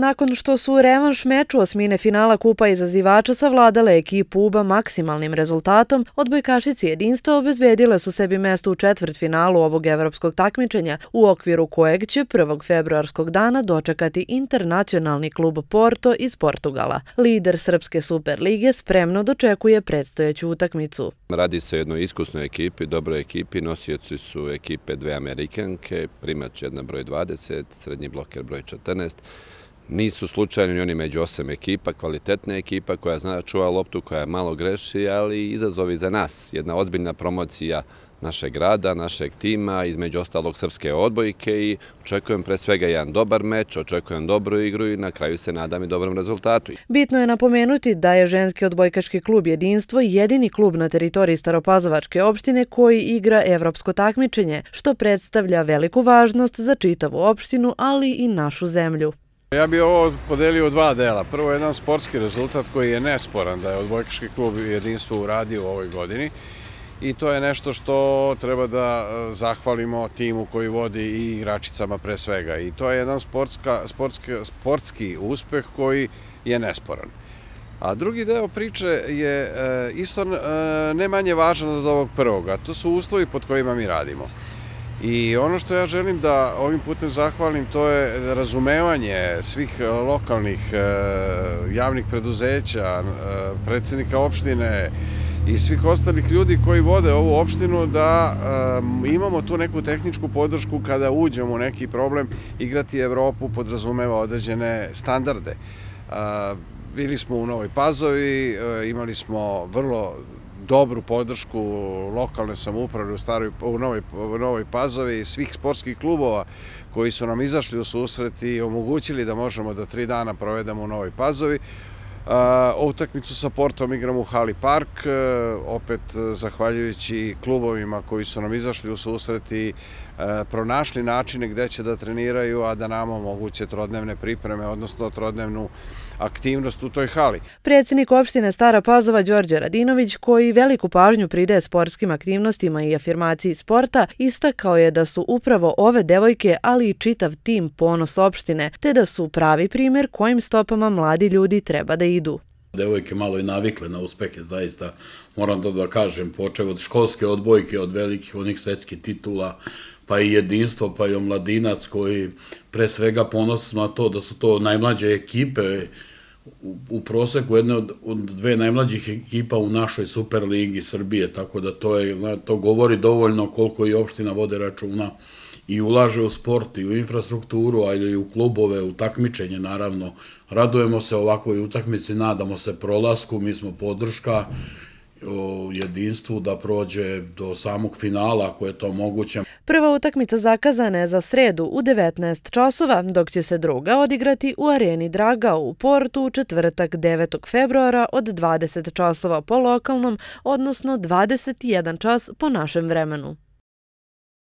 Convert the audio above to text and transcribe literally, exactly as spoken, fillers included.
Nakon što su u revanš meču osmine finala Kupa izazivača savladale ekipu U B A maksimalnim rezultatom, odbojkašice Jedinstva obezbedile su sebi mesto u četvrtfinalu ovog evropskog takmičenja, u okviru kojeg će prvog februarskog dana dočekati internacionalni klub Porto iz Portugala. Lider Srpske Superlige spremno dočekuje predstojeću utakmicu. Radi se o jednoj iskusnoj ekipi, dobroj ekipi, nosioci su ekipe dve Amerikanke, primač jedna broj dvadeset, srednji bloker broj četrnaest. Nisu slučajno ni oni među osam ekipa, kvalitetna ekipa koja zna čuva loptu, koja malo greši, ali izazovi za nas. Jedna ozbiljna promocija našeg grada, našeg tima, između ostalog srpske odbojke i očekujem pre svega jedan dobar meč, očekujem dobru igru i na kraju se nadam i dobrom rezultatu. Bitno je napomenuti da je ženski odbojkaški klub Jedinstvo jedini klub na teritoriji Staropazovačke opštine koji igra evropsko takmičenje, što predstavlja veliku važnost za čitavu opštinu, ali i našu zemlju. Ja bih ovo podelio u dva dela. Prvo, jedan sportski rezultat koji je nesporan da je odbojkaški klub Jedinstvo uradio u ovoj godini i to je nešto što treba da zahvalimo timu koji vodi i igračicama pre svega. I to je jedan sportska, sportski, sportski uspeh koji je nesporan. A drugi deo priče je isto ne manje važan od ovog prvoga. To su uslovi pod kojima mi radimo. I ono što ja želim da ovim putem zahvalim, to je razumevanje svih lokalnih javnih preduzeća, predsjednika opštine i svih ostalih ljudi koji vode ovu opštinu, da imamo tu neku tehničku podršku kada uđemo u neki problem. Igrati Evropu podrazumeva određene standarde. Bili smo u Novoj Pazovi, imali smo vrlo dobru podršku lokalne samouprave u, staroj, u, Novoj, u Novoj Pazovi i svih sportskih klubova koji su nam izašli u susret i omogućili da možemo da tri dana provedemo u Novoj Pazovi. Uh, utakmicu sa Portom igramo u Hali Park, uh, opet zahvaljujući klubovima koji su nam izašli u susret i uh, pronašli načine gde će da treniraju, a da nam omoguće trodnevne pripreme, odnosno trodnevnu aktivnost u toj hali. Predsjednik opštine Stara Pazova Đorđe Radinović, koji veliku pažnju pridaje sportskim aktivnostima i afirmaciji sporta, istakao je da su upravo ove devojke, ali i čitav tim ponos opštine, te da su pravi primjer kojim stopama mladi ljudi treba da idu. Devojke malo i navikle na uspehe, zaista moram to da kažem, počeo od školske odbojke, od velikih onih svetskih titula, pa i Jedinstvo, pa i Omladinac, koji pre svega ponosno na to da su to najmlađe ekipe u proseku, jedne od dve najmlađih ekipa u našoj Superligi Srbije, tako da to, je, to govori dovoljno koliko i opština vode računa i ulaže u sport i u infrastrukturu, ali i u klubove, u takmičenje naravno. Radujemo se ovakvoj utakmici, nadamo se prolasku, mi smo podrška o Jedinstvu da prođe do samog finala ako je to moguće. Prva utakmica zakazana je za sredu u devetnaest časova, dok će se druga odigrati u areni Draga u Portu u četvrtak devetog februara od dvadeset časova po lokalnom, odnosno dvadeset jedan čas po našem vremenu.